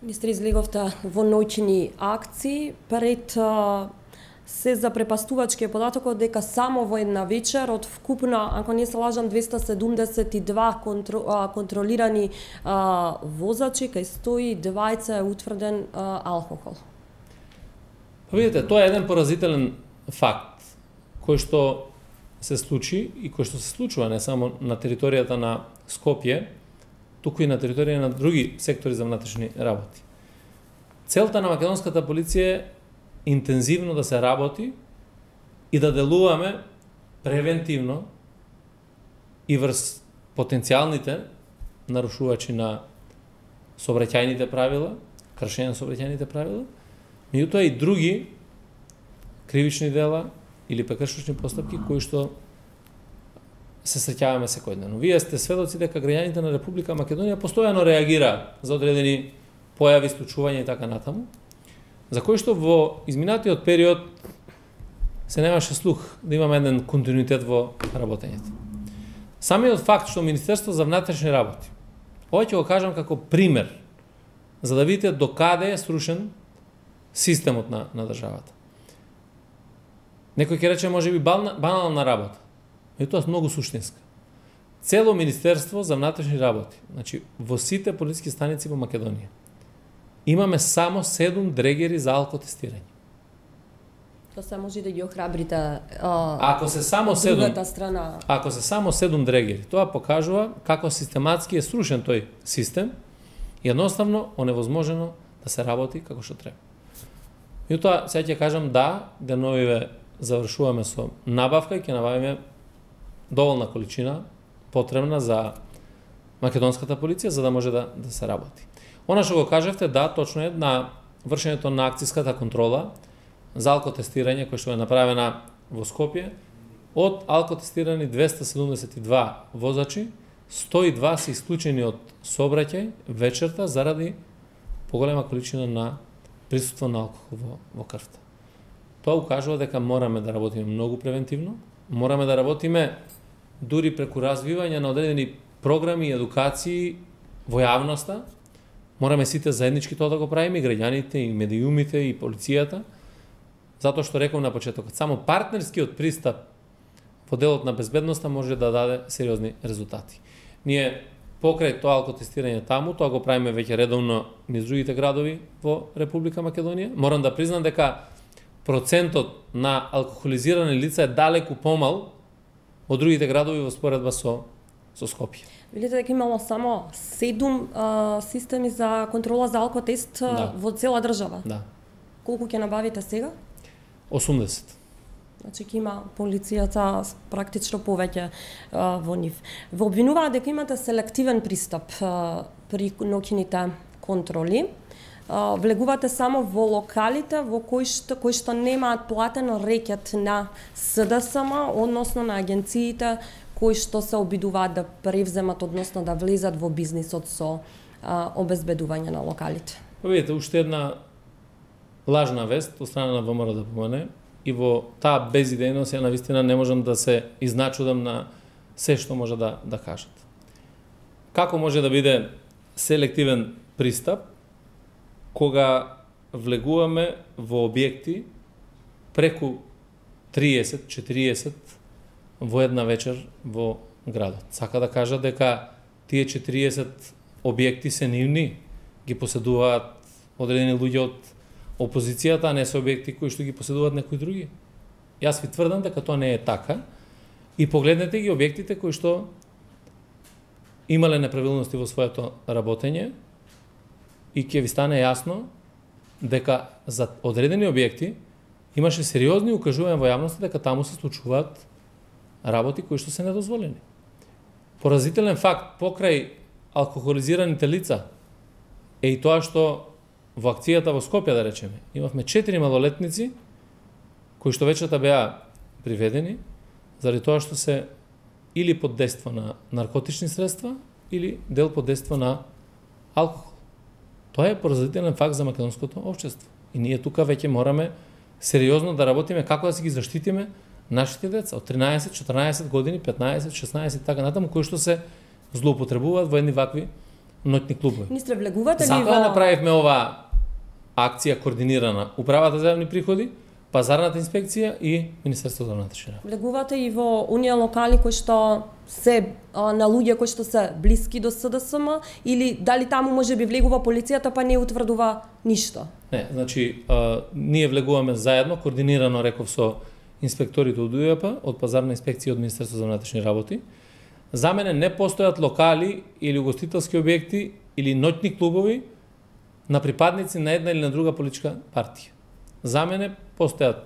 Министри, излеговте во ноќни акции пред се запрепастувачки податокот дека само во една вечер од вкупно, ако не се лажам, 272 контролирани возачи, кај 120 е утврден алкохол. Видите, тоа е еден поразителен факт кој што се случи и кој што се случува не само на територијата на Скопје, туку и на територија на други сектори за внатрешни работи. Целта на македонската полиција е интензивно да се работи и да делуваме превентивно и врз потенцијалните нарушувачи на сообраќајните правила, кршење на сообраќајните правила, меѓутоа и други кривични дела или прекршочни постапки кои што се среќаваме секојдневно. Вие сте сведоци дека граѓаните на Република Македонија постојано реагираат за одредени појави, случувања и така натаму, за кои што во изминатиот период се немаше слух да имаме еден континуитет во работењето. Самиот факт што Министерство за внатрешни работи, ова ќе го кажам како пример, за да видите докаде е срушен системот на државата. Некој ќе рече можеби банална работа, и тоа многу суштинска. Цело Министерство за внатрешни работи, значи во сите полициски станици во Македонија, имаме само 7 дрегери за алкотестирање. Тоа се може да ги охрабрите ако се само 7, другата страна. Ако се само 7 дрегери, тоа покажува како систематски е срушен тој систем и едноставно оневозможено да се работи како што треба. И тоа сега ќе кажам да, деновиве завршуваме со набавка и ќе набавиме доволна количина потребна за македонската полиција за да може да се работи. Она што го кажавте, да, точно е, на вршењето на акцијската контрола за алкотестирање која што е направена во Скопје, од алкотестирани 272 возачи, 102 се исклучени од сообраќај вечерта заради поголема количина на присуство на алкохол во крвта. Тоа укажува дека мораме да работиме многу превентивно, мораме да работиме дури преку развивање на одредени програми и едукации во јавноста. Мораме сите заеднички тоа да го правиме, и граѓаните, и медиумите, и полицијата, затоа што реков на почетокот, само партнерскиот пристап во делот на безбедноста може да даде сериозни резултати. Ние покрај тоа алкотестирање таму, тоа го правиме веќе редовно низ другите градови во Република Македонија. Морам да признам дека процентот на алкохолизирани лица е далеку помал од другите градови во споредба со Скопје. Видите дека имало само 7 системи за контрола за алкотест во цела држава. Да. Колку ќе набавите сега? 80. Значи ќе има полицијата практично повеќе во нив. Во обвинуваат дека имате селективен пристап при ноќните контроли. Влегувате само во локалите во кои што немаат платено рекет на СДСМ, односно на агенциите кои што се обидуваат да превземат, односно да влезат во бизнисот со обезбедување на локалите. Видите, уште една лажна вест од страна на ВМРО ДПМН и во таа безидејност ја навистина не можам да се изначудам на се што може да кажат. Како може да биде селективен пристап кога влегуваме во објекти преку 30-40 во една вечер во градот? Сака да кажа дека тие 40 објекти се нивни, ги поседуваат одредени луѓе од опозицијата, а не се објекти кои што ги поседуваат некои други. Јас ви тврдам дека тоа не е така и погледнете ги објектите кои што имале неправилности во своето работење и ќе ви стане јасно дека за одредени објекти имаше сериозни укажувања во јавноста дека таму се случуваат работи кои што се недозволени. Поразителен факт покрај алкохолизираните лица е и тоа што во акцијата во Скопје, да речеме, имавме 4 малолетници кои што вечерта беа приведени заради тоа што се или под дејство на наркотични средства или дел под дејство на алкохол. Тоа е поразителен факт за македонското општество. И ние тука веќе мораме сериозно да работиме како да си ги заштитиме нашите деца од 13, 14 години, 15, 16 и така натаму, кои што се злоупотребуваат во едни вакви ноќни клубови. Министре, влегувате ли Затоа направивме ова акција координирана Управата за јавни приходи, Пазарната инспекција и Министерството за внатрешни работи. Влегувате и во оние локали кои што се на луѓе кои што се блиски до СДСМ, или дали таму може би влегува полицијата па не утврдува ништо? Не, значи ние влегуваме заедно, координирано реков со инспекторите од УЈП, од Пазарна инспекција и од Министерството за внатрешни работи. За мене не постојат локали или угостителски објекти или ноќни клубови на припадници на една или на друга политичка партија. За мене постојат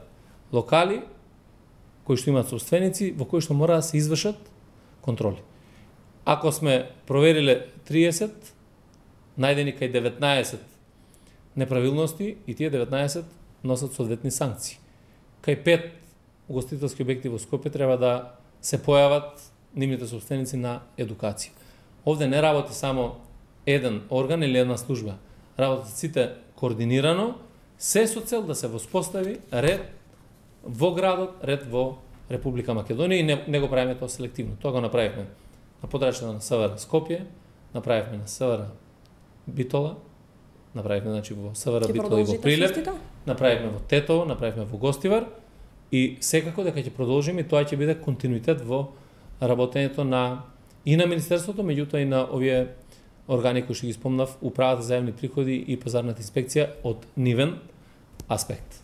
локали кои што имаат собственици во кои што мора да се извршат контроли. Ако сме провериле 30, најдени кај 19 неправилности и тие 19 носат соодветни санкции. Кај 5 угостителски објекти во Скопје треба да се појават нивните собственици на едукација. Овде не работи само еден орган или една служба. Работат сите координирано, се со цел да се воспостави ред во градот, ред во Република Македонија и не го правиме тоа селективно. Тоа го направивме на подрачјата на СВР Скопје, направивме на СВР Битола, направивме значи во СВР Битола и во Прилеп, направивме во Тетово, направивме во Гостивар и секако дека ќе продолжиме и тоа ќе биде континуитет во работењето и на Министерството, меѓутоа и на овие органи кои што ги спомнав, Управата за јавни приходи и Пазарната инспекција од нивен аспект.